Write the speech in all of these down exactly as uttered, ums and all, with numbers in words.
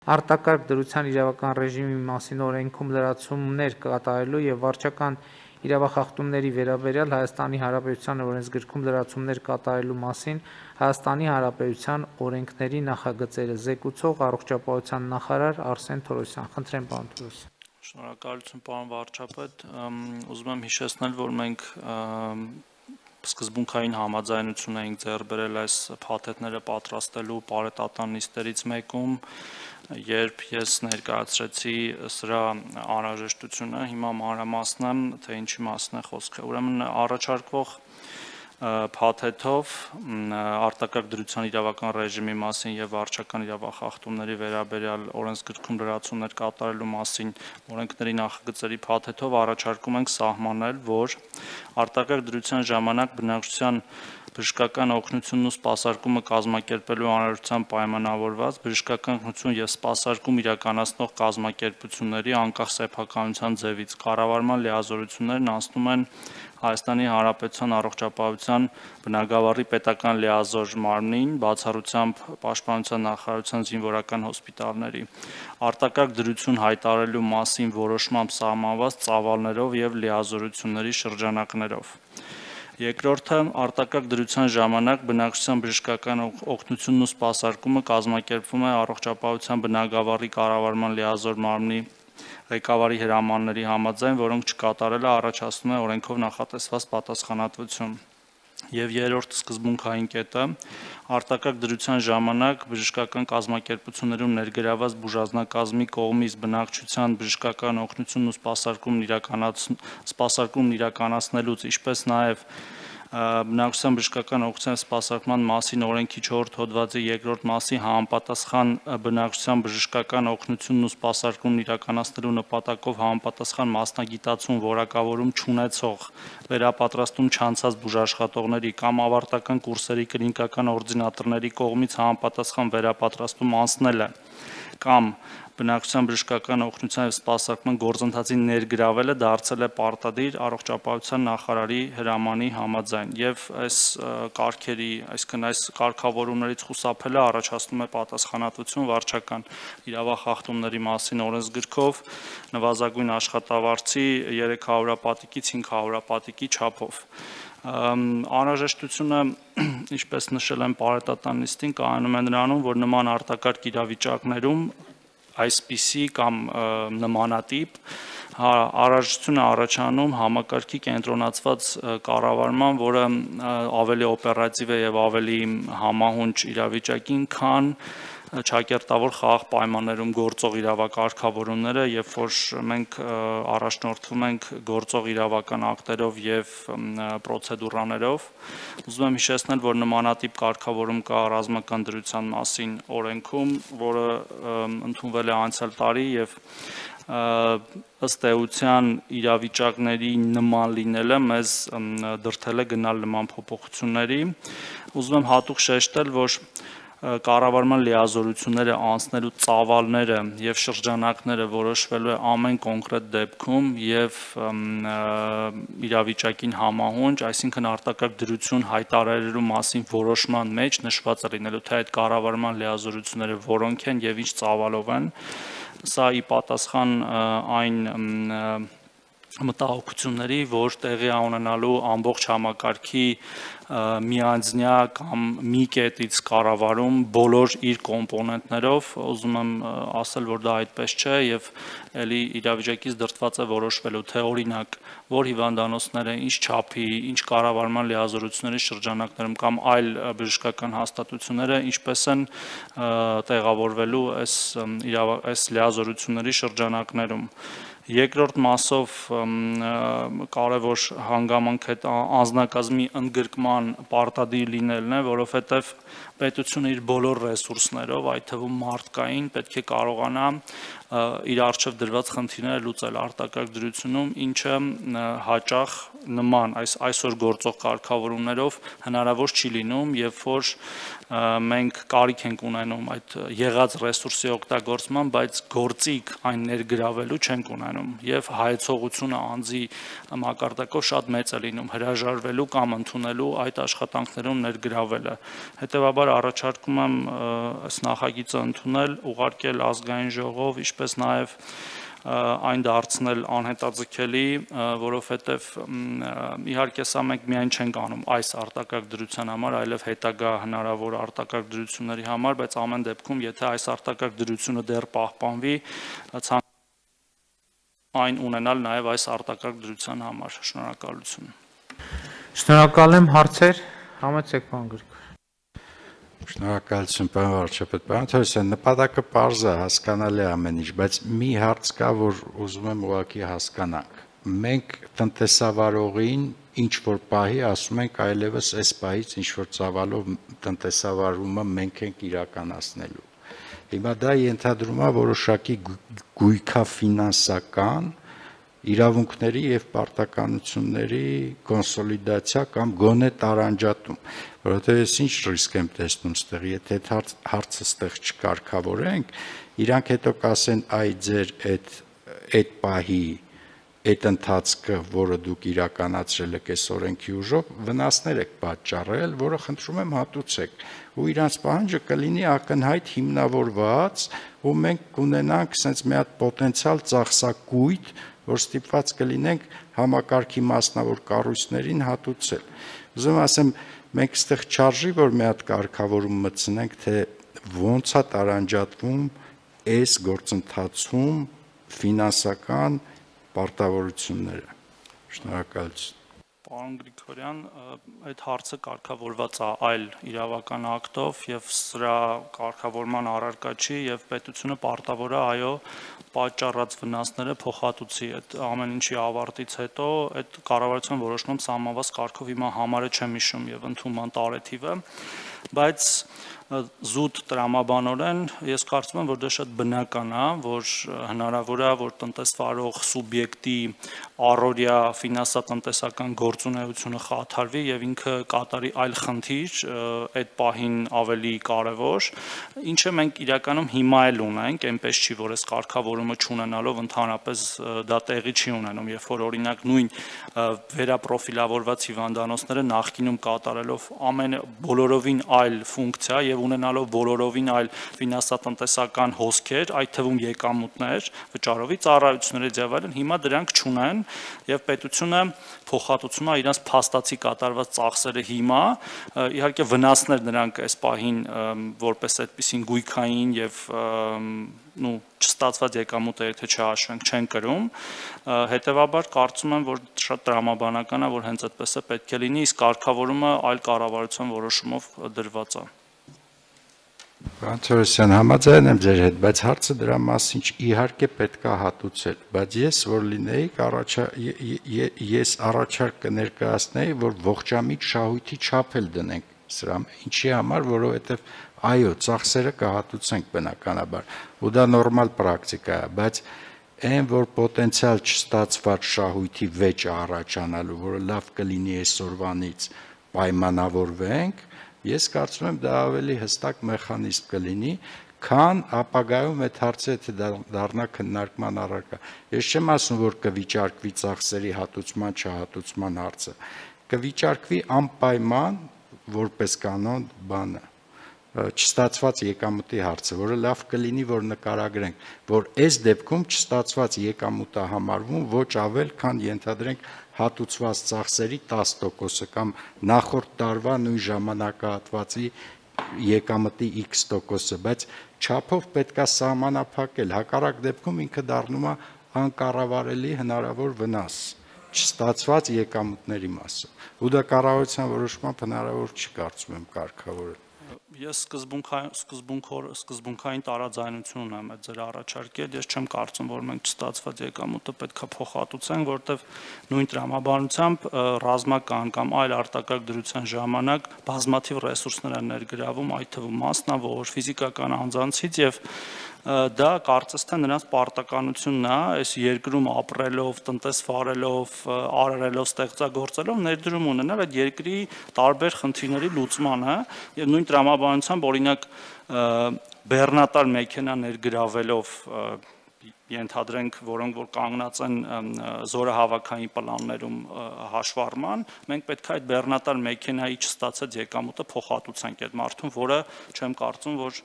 Արտակարգ դրության իրավական ռեժիմի մասին օրենքում լրացումներ կատարելու և վարչական իրավախախտումների վերաբերյալ Հայաստանի Հանրապետության օրենսգրքում լրացումներ կատարելու մասին Հայաստանի Հանրապետության օրենքների նախագծերը, զեկուցող առողջապահության նախարար Արսեն Թորոսյան։ Խնդրեմ, պարոն Թորոսյան։ Շնորհակալություն, պարոն վարչապետ, ուզում եմ հիշեցնել, որ մենք սկզբունքային համաձայնություն էինք ձեռք բերել այս փաթեթները պատրաստելու պարետատան նիստերից մեկում, երբ ես ներկայացրեցի սրա անհրաժեշտությունը, հիմա մանրամասնեմ, թե ինչի մասին է խոսքը։ Ուրեմն առաջարկվող փաթեթով արտակարգ դրության իրավական ռեժիմի մասին և վարչական իրավախախտումների վերաբերյալ օրենսգրքում լրացումներ կատարելու մասին օրենքների նախագծերի փաթեթով առաջարկում ենք սահմանել, որ արտակարգ դրության ժամանակ բնակչության բժշկական օգնությունն ու սպասարկումը կազմակերպելու անհրաժեշտությամբ պայմանավորված բժշկական օգնություն և սպասարկում իրականացնող կազմակերպությունների անկախ սեփականության ձևից կառավարման լիազորություններն անցնում են Հայաստանի Հանրապետության առողջապահության բնագավառի պետական լիազոր մարմնին, բացառությամբ Պաշտպանության նախարարության զինվորական հոսպիտալների, արտակարգ դրություն հայտարարելու մասին որոշմամբ սահմանված ծավալներով և լիազորությունների շրջանակներով։ Երկրորդը, արտակարգ դրության ժամանակ բնակչության բժշկական օգնությունն ու սպասարկումը կազմակերպվում է առողջապահության բնագավառի կառավարման լիազոր մարմնի ղեկավարի հրամանների համաձայն, որոնք չկատարելը առաջացնում է օրենքով նախատեսված պատասխանատվություն։ Եվ երրորդ սկզբունքային կետը, արտակարգ դրության ժամանակ բժշկական կազմակերպություններում ներգրավված բուժանձնակազմի կողմից բնակչության բժշկական օգնությունն ու սպասարկումն իրականացնելուց, ինչպես նաև բնակչության բժշկական օգնության սպասարկման մասին օրենքի չորրորդ հոդվածի երկրորդ մասի համապատասխան բնակչության բժշկական օգնությունն ու սպասարկումն իրականացնելու նպատակով համապատասխան մասնագիտացում, որակավորում չունեցող, վերապատրաստում չանցած բուժաշխատողների կամ ավարտական կուրսերի կլինիկական օրդինատորների կողմից համապատասխան վերապատրաստում անցնելը կամ բնակչության բժշկական օգնության և սպասարկման գործընթացին ներգրավելը դարձել է պարտադիր առողջապահության նախարարի հրամանի համաձայն և այս կարգերի, այսինքն այս կարգավորումներից խուսափելը առաջացնում է պատասխանատվություն վարչական իրավախախտումների մասին օրենսգրքով նվազագույն աշխատավարձի երեք հարյուրապատիկից հինգ հարյուրապատիկի չափով։ Անհրաժեշտությունը, ինչպես նշել եմ պարետատան նիստին, կայանում է նրանում, որ նման արտակարգ իրավիճակներում այսպիսի կամ նմանատիպ անհրաժեշտություն է առաջանում համակարգի կենտրոնացված կառավարման, որը ավելի օպերատիվ է և ավելի համահունչ իրավիճակին, քան ճակերտավոր խաղաղ պայմաններում գործող իրավակարգավորումները, երբ որ մենք առաջնորդվում ենք գործող իրավական ակտերով և պրոցեդուրաներով։ Ուզում եմ հիշեցնել, որ նմանատիպ կարգավորում կա ռազմական դրության մասին օրենքում, որը ընդունվել է անցյալ տարի և ըստ էության իրավիճակների նման լինելը մեզ դրդել է գնալ նման փոփոխությունների։ Ուզում եմ հատուկ շեշտել, որ կառավարման լիազորությունները անցնելու ծավալները և շրջանակները որոշվելու է ամեն կոնկրետ դեպքում և իրավիճակին համահունչ, այսինքն արտակարգ դրություն հայտարարելու մասին որոշման մեջ նշված է լինելու, թե այդ կառավարման լիազորությունները որոնք են և ինչ ծավալով են, սա ի պատասխան այն մտահոգությունների, որ տեղի է ունենալու ամբողջ համակարգի միանձնյա կամ մի կետից կառավարում բոլոր իր կոմպոնենտներով, ուզում եմ ասել, որ դա այդպես չէ և էլի իրավիճակից դրդված է որոշվելու, թե օրինակ, որ հիվանդանոցները ինչ չափի, ինչ կառավարման լիազորությունների շրջանակներում կամ այլ բժշկական հաստատությունները ինչպես են տեղավորվելու այս այս լիազորությունների շրջանակներում։ Երկրորդ մասով կարևոր հանգամանք այդ անձնակազմի ընդգրկման պարտադիր լինելն է, որովհետև պետությունը իր բոլոր ռեսուրսներով, այդ թվում մարդկային, պետք է կարողանա իր առջև դրված խնդիրները լուծել արտակարգ դրությունում, ինչը հաճախ նման այս այսօր գործող կարգավորումներով հնարավոր չի լինում, երբ որ մենք կարիք ենք ունենում այդ եղած ռեսուրսի օգտագործման, բայց գործիք այն ներգրավելու չենք ունենում։ ունենում եւ հայեցողությունը անձի մակարդակով շատ մեծ է լինում հրաժարվելու կամ ընդունելու այդ աշխատանքներում ներգրավելը։ Հետևաբար առաջարկում եմ այս նախագիծը ընդունել, ուղարկել ազգային ժողով, ինչպես նաեւ այն դարձնել անհետաձգելի, որովհետև իհարկե սա մենք միայն չենք անում այս արտակարգ դրության համար, այլև հետագա հնարավոր արտակարգ դրությունների համար, բայց ամեն դեպքում, եթե այս արտակարգ դրությունը դեռ պահպանվի, այն ունենալ նաև այս արտակարգ դրության համար։ Շնորհակալություն։ Շնորհակալ եմ, հարցեր, համեցեք պարոն Գրիգոր։ Շնորհակալություն, պարոն վարչապետ, պարոն Թորոսյան, նպատակը պարզ է, հասկանալի է ամեն ինչ, բայց մի հարց կա, որ ուզում եմ ուղղակի հասկանանք։ Մենք տնտեսավարողին ինչ որ պահի ասում ենք այլևս այս պահից ինչ որ ծավալով տնտեսավարումը մենք ենք իրականացնելու։ Հիմա դա ենթադրում է որոշակի գույքաֆինանսական իրավունքների եւ պարտականությունների կոնսոլիդացիա կամ գոնե տարանջատում, որովհետեւ ես ինչ ռիսկ եմ տեսնում ստեղ, եթե հարցը ստեղ չկարգավորենք, իրանք հետո կասեն, այ ձեր այդ այդ պահի այդ ընթացքը, որը դուք իրականացրել եք այս օրենքի ուժով, վնասներ եք պատճառել, որը խնդրում եմ հատուցեք, ու իրանց պահանջը կլինի ակնհայտ հիմնավորված, ու մենք կունենանք sense մի հատ պոտենցիալ ծախսակույտ, որ ստիպված կլինենք համակարգի մասնավոր կառույցներին հատուցել։ Ուզում ասեմ, մենք այստեղ չարժի, որ մի հատ կարգավորում մտցնենք, թե ոնց է տարանջատվում այս գործընթացում ֆինանսական պարտավորությունները։ Շնորհակալություն։ Պարոն Գրիգորյան, այդ հարցը կարգավորված է այլ իրավական ակտով եւ սրա կարգավորման առարկա չի եւ պետությունը պարտավոր է այո պատճառած վնասները փոխհատուցի այդ ամեն ինչի ավարտից հետո այդ կառավարության որոշում սահմանված կարգով հիմա համարը չեմ հիշում եւ ընդունման տարեթիվը, բայց զուտ տրամաբանորեն ես կարծում եմ, որ դա շատ բնական է, որ հնարավոր է, որ տնտեսվարող սուբյեկտի առօրյա ֆինանսատնտեսական գործունեությունը խաթարվի եւ ինքը կատարի այլ խնդիր, այդ պահին ավելի կարեւոր, ինչը մենք իրականում հիմա էլ ունենք, այնպես չի, որ այս կարգավորումը չունենալով ընդհանրապես դա տեղի չի ունենում, երբ որ օրինակ նույն վերապրոֆիլավորված հիվանդանոցները նախկինում կատարելով ամեն բոլորովին այլ ֆունկցիա եւ ունենալով բոլորովին այլ ֆինանսատնտեսական հոսքեր, այդ թվում եկամուտներ, վճարովի ծառայությունների եւ այլն, հիմա դրանք չունեն եւ պետությունը փոխհատուցում է իրենց փաստացի կատարված ծախսերը հիմա, իհարկե վնասներ նրանք այս պահին որպես այդպիսին գույքային եւ նու չստացված եկամուտը եթե չհաշվենք չեն կրում, հետեւաբար կարծում եմ, որ շատ տրամաբանական է, որ հենց այդպես է պետք է լինի, իսկ կարգավորումը այլ կառավարության որոշումով դրված է։ Պարոն Թորոսյան, համաձայն եմ ձեր հետ, բայց հարցը դրա մասին իհարկե պետք է հատուցել, բայց ես որ լինեի, ես առաջարկ կներկայացնեի, որ ողջամիտ շահույթի չափ էլ դնենք սրա, ինչի համար, որովհետև այո, ծախսերը կհատուցենք բնականաբար, ու դա նորմալ պրակտիկա է, բայց այն, որ պոտենցիալ չստացված շահույթի վեճ առաջանալու, որը լավ կլինի այսօրվանից պայմանավորվենք, ես կարծում եմ դա ավելի հստակ մեխանիզմ կլինի, քան ապագայում այդ հարցը եթե դառնա քննարկման առարկա։ Ես չեմ ասում, որ կվիճարկվի ծախսերի հատուցման չհատուցման հարցը, կվիճարկվի անպայման որպես կանոն բանը, չստացված եկամուտի հարցը, որը լավ կլինի, որ նկարագրենք, որ այս դեպքում չստացված եկամուտը համարվում ոչ ավել, քան ենթադրենք հատուցված ծախսերի տասը տոկոսը կամ նախորդ տարվա նույն ժամանակահատվածի եկամտի X տոկոսը, բայց չափով պետք է սահմանափակել, հակառակ դեպքում ինքը դառնում է անկառավարելի հնարավոր վնաս չստացված եկամուտների մասը, ու դա կառավարության որոշմամբ հնարավոր չի կարծում եմ կարգավորել։ Ես սկզբունքային սկզբունքային տարաձայնություն ունեմ այդ ձեր առաջարկել, ես չեմ կարծում, որ մենք չստացված եկամուտը պետք է փոխհատուցենք, որտեվ նույն տրամաբանությամբ ռազմական կամ այլ արտակարգ դրության ժամանակ բազմաթիվ ռեսուրսներ են ներգրավում, այդ թվում մասնավոր, ֆիզիկական անձանցից եւ դա կարծես թե նրանց պարտականությունն է, այս երկրում ապրելով, տնտեսվարելով, արարելով, ստեղծագործելով ներդրում ունենալ այդ երկրի տարբեր խնդիրների լուծմանը եւ նույն տրամաբանությամբ օրինակ բեռնատար մեքենա ներգրավելով ենթադրենք, որոնք որ կանգնած են զորահավաքային պլաններում հաշվառման, մենք պետք է այդ բեռնատար մեքենայի չստացած եկամուտը փոխհատուցենք այդ մարդուն, որը չեմ կարծում, որ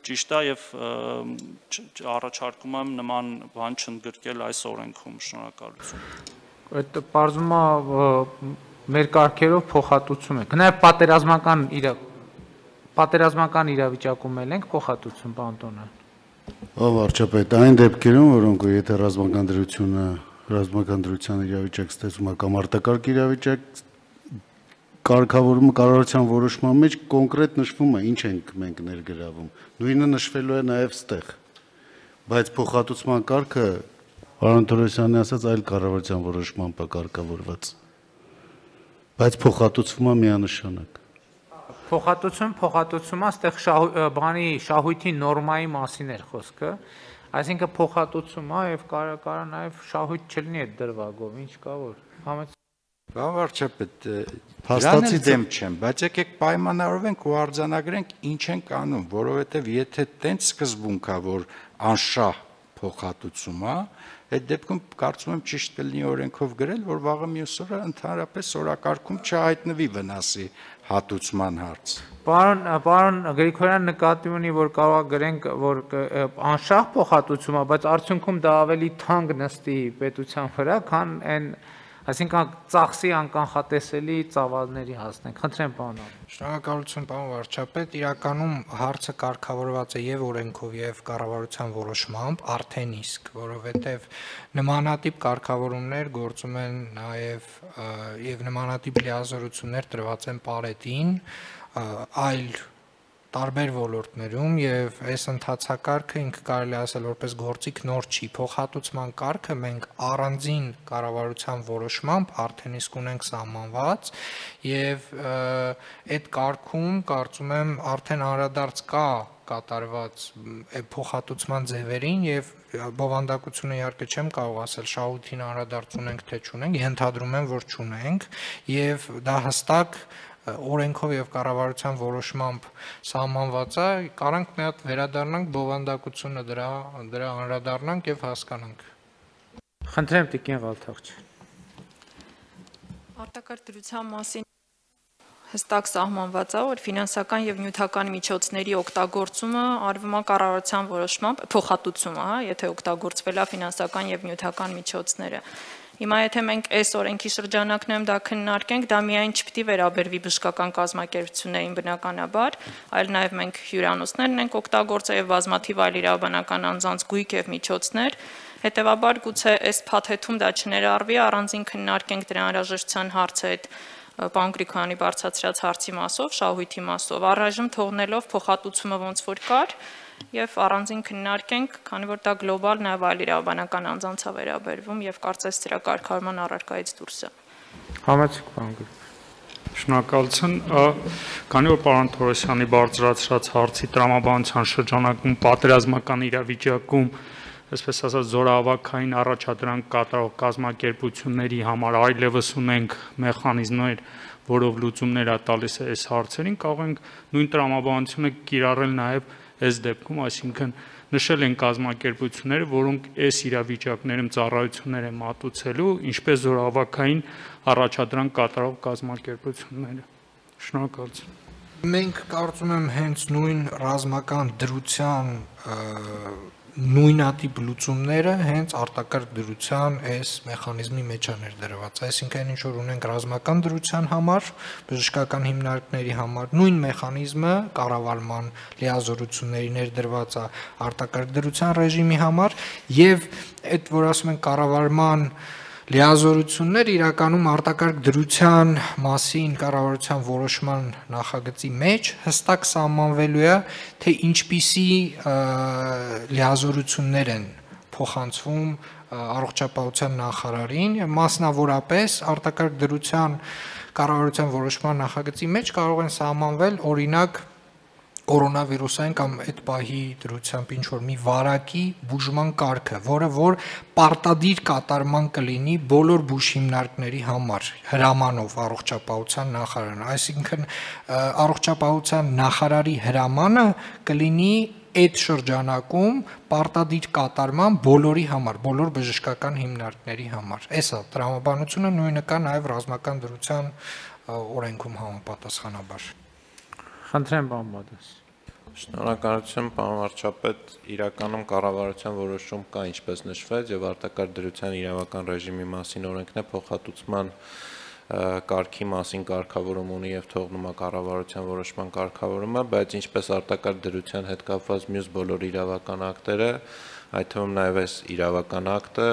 ճիշտ է եւ առաջարկում եմ նման բան չընդգրկել այս օրենքում։ Շնորհակալություն։ Այդ բարձում է մեր կարգերով փոխհատուցում ենք։ Նաև պատերազմական իրա պատերազմական իրավիճակում ենք փոխհատուցում, պարոն Տոնյան։ Ով վարչապետ, այն դեպքերում, որոնք եթե ռազմական դրությունը, ռազմական դրության իրավիճակ ստեղծում է կամ արտակարգ իրավիճակ, կարգավորումը կառավարության որոշման մեջ կոնկրետ նշվում է, ինչ ենք մենք ներգրավում։ Նույնը նշվելու է նաև ստեղ։ Բայց փոխհատուցման կարգը, պարոն Թորոսյանի ասած, այլ կառավարության որոշմամբ է կարգավորված։ Բայց փոխհատուցվում է միանշանակ։ Փոխհատուցում, փոխհատուցումը, այստեղ բանի շահույթի նորմայի մասին էր խոսքը, այսինքն փոխհատուցում է եւ կարա կարա նաեւ շահույթ չլինի այդ դրվագով, ինչ կա որ։ Համաձայն Բան վարչապետ, դրան էլ դեմ չեմ, բայց եկեք պայմանավորվենք ու արձանագրենք ինչ ենք անում, որովհետեւ եթե տենց սկզբունք է, որ անշահ փոխհատուցում է, այդ դեպքում կարծում եմ ճիշտ կլինի օրենքով գրել, որ վաղը մյուս օրը ընդհանրապես օրակարգում չհայտնվի վնասի հատուցման հարց։ Պարոն, պարոն Գրիգորյան նկատի ունի, որ կարող է գրենք, որ անշահ փոխհատուցում է, բայց արդյունքում դա ավելի թանկ նստի պետության վրա, քան այն, այսինքն ծախսի անկանխատեսելի ծավալների հասնենք։ Խնդրեմ, պարոն։ Շնորհակալություն, պարոն վարչապետ, իրականում հարցը կարգավորված է եւ օրենքով եւ կառավարության որոշմամբ արդեն իսկ, որովհետեւ նմանատիպ կարգավորումներ գործում են նաեւ եւ նմանատիպ լիազորություններ տրված են Պարետին, այլ տարբեր ոլորտներում եւ այս ընթացակարգը ինքը կարելի ասել որպես գործիք նոր չի, փոխհատուցման կարգը մենք առանձին կառավարության որոշմամբ արդեն իսկ ունենք սահմանված եւ այդ կարգում կարծում եմ արդեն անդրադարձ կա կատարված փոխհատուցման ձևերին եւ բովանդակությունը իհարկե չեմ կարող ասել շահույթին անդրադարձ ունենք թե չունենք, ենթադրում եմ որ չունենք եւ դա հստակ օրենքով եւ կառավարության որոշմամբ սահմանված է, կարանք մի հատ վերադառնանք բովանդակությունը դրա դրա անդրադառնանք եւ հասկանանք։ Խնդրեմ Տիկին Ղալթաղջյան։ Արտակարգ դրության մասին հստակ սահմանված է, որ ֆինանսական եւ նյութական միջոցների օգտագործումը արվում է կառավարության որոշմամբ, փոխհատուցումը, հա, եթե օգտագործվել է ֆինանսական եւ նյութական միջոցները։ Հիմա եթե մենք այս օրենքի շրջանակներում դա քննարկենք, դա միայն չպիտի վերաբերվի բժշկական կազմակերպություններին բնականաբար, այլ նաև մենք հյուրանոցներն ենք օգտագործել եւ բազմաթիվ այլ իրավաբանական անձանց գույք եւ միջոցներ, հետեւաբար գուցե այս փաթեթում դա չներառվի, առանձին քննարկենք դրա անհրաժեշտության հարցը այդ պարոն Գրիգորյանի բարձրացրած հարցի մասով, շահույթի մասով, առայժմ թողնելով փոխհատուցումը ոնց որ կար եւ առանձին քննարկենք, քանի որ դա գլոբալ նաեւ այլ իրավաբանական անձանց է վերաբերվում եւ կարծես դրա կարգավորման առարկայից դուրս է։ Համեցեք, պարոն Գրիգորյան։ Շնորհակալություն, քանի որ պարոն Թորոսյանի բարձրացրած հարցի տրամաբանության շրջանակում պատերազմական իրավիճակում, այսպես ասած, զորահավաքային առաջադրանք կատարող կազմակերպությունների համար այլևս ունենք մեխանիզմներ, որով լուծումներ է տալիս այս հարցերին, կարող ենք նույն տրամաբանությունը կիրառել նաեւ այս դեպքում, այսինքն նշել են կազմակերպությունները, որոնք այս իրավիճակներում ծառայություններ են մատուցելու, ինչպես զորահավաքային առաջադրանք կատարող կազմակերպությունները։ Շնորհակալություն։ Մենք կարծում եմ հենց նույն ռազմական դրության նույնատիպ լուծումները հենց արտակարգ դրության այս մեխանիզմի մեջ է ներդրված, այսինքն ինչ որ ունենք ռազմական դրության համար, բժշկական հիմնարկների համար, նույն մեխանիզմը կառավարման լիազորությունների ներդրված է արտակարգ դրության ռեժիմի համար եւ այդ որ ասում են կառավարման լիազորություններ իրականում արտակարգ դրության մասին կառավարության որոշման նախագծի մեջ հստակ սահմանվելու է, թե ինչպիսի լիազորություններ են փոխանցվում առողջապահության նախարարին, մասնավորապես արտակարգ դրության կառավարության որոշման նախագծի մեջ կարող են սահմանվել օրինակ կորոնավիրուսային կամ այդ պահի դրությամբ ինչ որ մի վարակի բուժման կարգը, որը որ պարտադիր կատարման կլինի բոլոր բուժհիմնարկների համար հրամանով առողջապահության նախարարն, այսինքն առողջապահության նախարարի հրամանը կլինի այդ շրջանակում պարտադիր կատարման բոլորի համար, բոլոր բժշկական հիմնարկների համար։ Էսա տրամաբանությունը նույնը կա նաև ռազմական դրության օրենքում համապատասխանաբար։ Խնդրեմ, պարոն Բադաս։ Շնորհակալություն, պարոն վարչապետ, իրականում կառավարության որոշում կա, ինչպես նշվեց, եւ արտակարգ դրության իրավական ռեժիմի մասին օրենքն է փոխհատուցման կարգի մասին կարգավորում ունի եւ թողնում է կառավարության որոշման կարգավորումը, բայց ինչպես արտակարգ դրության հետ կապված մյուս բոլոր իրավական ակտերը, այդ թվում նաեւ այս իրավական ակտը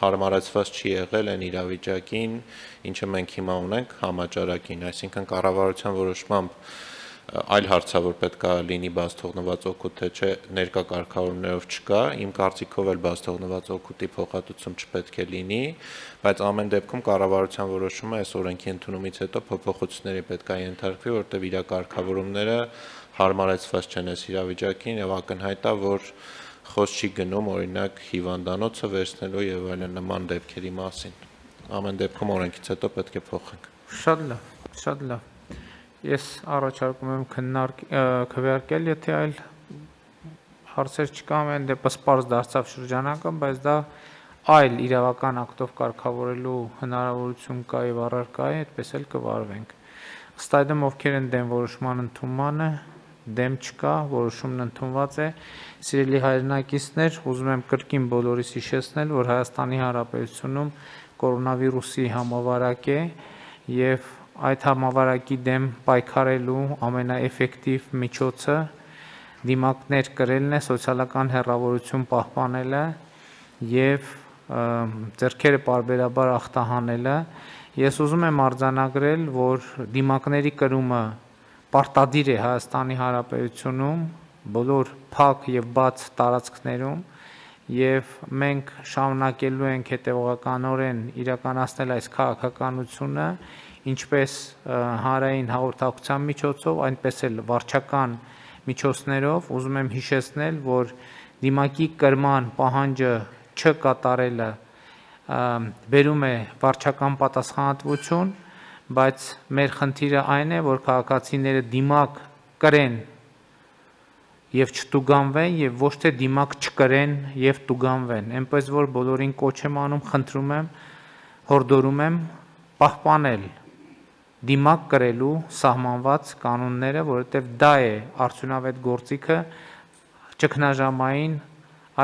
հարմարեցված չի եղել այն իրավիճակին, ինչը մենք հիմա ունենք համաճարակին, այսինքն կառավարության որոշմամբ այլ հարցավոր պետք է լինի բաց թողնված օգուտ, թե չէ ներկա կարգավորումներով չկա, իմ կարծիքով էլ բաց թողնված օգուտի փոխհատուցում չպետք է լինի, բայց ամեն դեպքում կառավարության որոշումը այս օրենքի ընդունումից հետո փոփոխությունների պետք է ենթարկվի, որտեղ իր կարգավորումները հարմարեցված չեն այս իրավիճակին եւ ակնհայտ է, որ խոսք չի գնում օրինակ հիվանդանոցը վերցնելու եւ այլն նման դեպքերի մասին։ Ամեն դեպքում օրենքից հետո պետք է փոխենք։ Շատ լավ, շատ լավ։ Ես առաջարկում եմ քվեարկել, եթե այլ հարցեր չկա, ամեն դեպս պարզ դարձավ շրջանակը, բայց դա այլ իրավական ակտով կարգավորելու հնարավորություն կա եւ առարկա է, այդպես էլ կվարվենք։ Ըստ այդմ ովքեր են դեմ որոշման ընդունմանը, դեմ չկա, որոշումն ընդունված է։ Սիրելի հայրենակիցներ, ուզում եմ կրկին բոլորիս հիշեցնել, որ Հայաստանի Հանրապետությունում կորոնավիրուսի համավարակ է եւ այդ համավարակի դեմ պայքարելու ամենաէֆեկտիվ միջոցը դիմակներ կրելն է, սոցիալական հեռավորություն պահպանելը եւ ձեռքերը պարբերաբար ախտահանելը։ Ես ուզում եմ արձանագրել, որ դիմակների կրումը պարտադիր է Հայաստանի Հանրապետությունում բոլոր փակ եւ բաց տարածքներում եւ մենք շարունակելու ենք հետեւողականորեն իրականացնել այս քաղաքականությունը, ինչպես հանրային հաղորդակցության միջոցով, այնպես էլ վարչական միջոցներով։ Ուզում եմ հիշեցնել, որ դիմակի կրման պահանջը չկատարելը բերում է վարչական պատասխանատվություն, բայց մեր խնդիրը այն է, որ քաղաքացիները դիմակ կրեն եւ չտուգանվեն եւ ոչ թե դիմակ չկրեն եւ տուգանվեն։ Այնպես որ բոլորին կոչ եմ անում, խնդրում եմ, հորդորում եմ պահպանել դիմակ կրելու սահմանված կանոնները, որովհետև դա է արդյունավետ գործիքը ճգնաժամային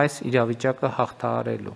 այս իրավիճակը հաղթահարելու։